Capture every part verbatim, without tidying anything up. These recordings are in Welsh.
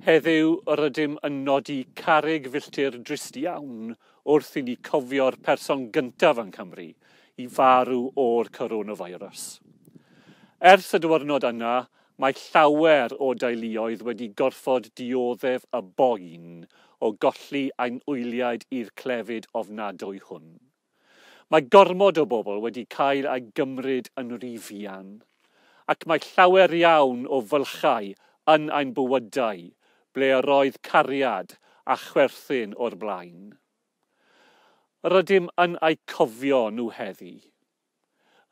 Heddiw rydym yn nodi carreg filltir drist iawn wrth i ni cofio'r person gyntaf yng Nghymru i farw o'r coronavirus. Ers y diwrnod yna, mae llawer o deuluoedd wedi gorfod dioddef y boen o golli ein hwyliaid i'r clefyd ofnadwy hwn. Mae gormod o bobl wedi cael eu gymryd yn rhy fuan, ac mae llawer iawn o fylchau yn ein bywydau ble yr oedd cariad a chwerthin o'r blaen. Rydym yn eu cofio nhw heddi.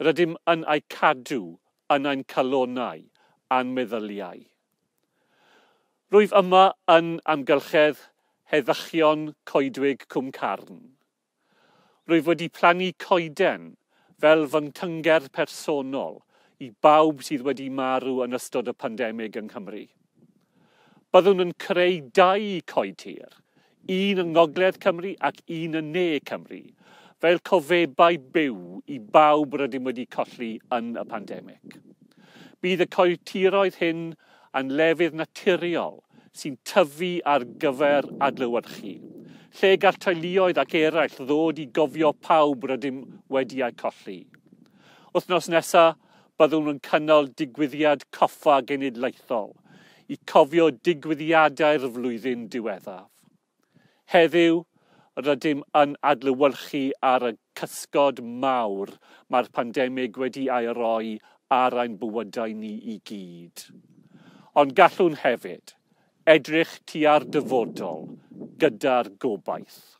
Rydym yn eu cadw yn ein calonnau a'n meddyliau. Rwyf yma yn amgylchedd heddychion coedwig Cwmcarn. Rwyf wedi plannu coeden fel fy nghyngor personol i bawb sydd wedi marw yn ystod y pandemig yng Nghymru. Byddwn yn creu dau coetir, un yng Ngogledd Cymru ac un yn Ne Cymru, fel cofebau byw i bawb rydym wedi colli yn y pandemig. Bydd y coetiroedd hyn yn lefydd naturiol sy'n tyfu ar gyfer adlewyrchu, lle gall teuluoedd ac eraill ddod i gofio pawb rydym wedi eu colli. Wythnos nesaf, byddwn yn cynnal digwyddiad coffa genedlaethol i cofio digwyddiadau'r flwyddyn diweddaf. Heddiw, rydym yn adlewyrchu ar y cysgod mawr mae'r pandemig wedi ei roi ar ein bywydau ni i gyd. Ond gallwn hefyd edrych tua'r dyfodol gyda'r gobaith.